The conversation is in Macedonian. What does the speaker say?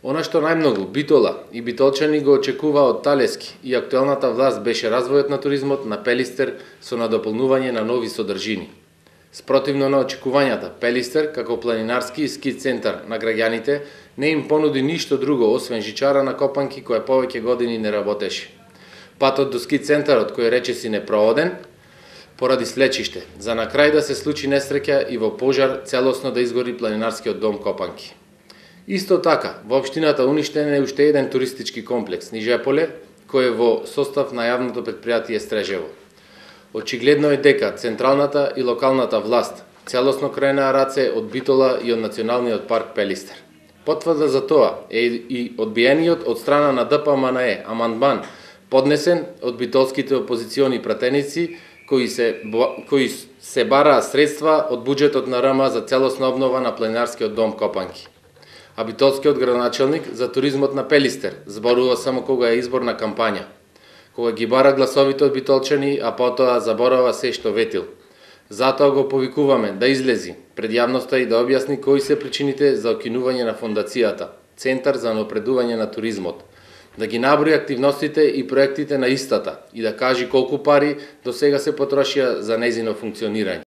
Она што најмногу Битола и битолчани го очекува од Талески и актуелната власт беше развојот на туризмот на Пелистер со надополнување на нови содржини. Спротивно на очекувањата, Пелистер, како планинарски и ски центар на граѓаните, не им понуди ништо друго освен жичара на копанки која повеќе години не работеше. Патот до ски центарот, кој речиси непрооден, поради слечиште, за на крај да се случи несреќа и во пожар целосно да изгори планинарскиот дом Копанки. Исто така, во општината уништен е уште еден туристички комплекс, Нижеполе, кој е во состав на јавното претпријатие Стрежево. Очигледно е дека централната и локалната власт целосно кренаа раце од Битола и од Националниот парк Пелистер. Потврда за тоа е и одбиениот од страна на ДПМНЕ амандман поднесен од битолските опозициони пратеници кои се бараа средства од буџетот на РМ за целосна обнова на планинарскиот дом Копанки. А битолскиот градоначелник за туризмот на Пелистер зборува само кога е изборна кампања, кога ги бара гласовите од битолчани, а потоа заборава се што ветил. Затоа го повикуваме да излези пред јавноста и да објасни кои се причините за окинување на фондацијата, Центар за напредување на туризмот, да ги наброи активностите и проектите на истата и да кажи колку пари до сега се потрошија за нејзино функционирање.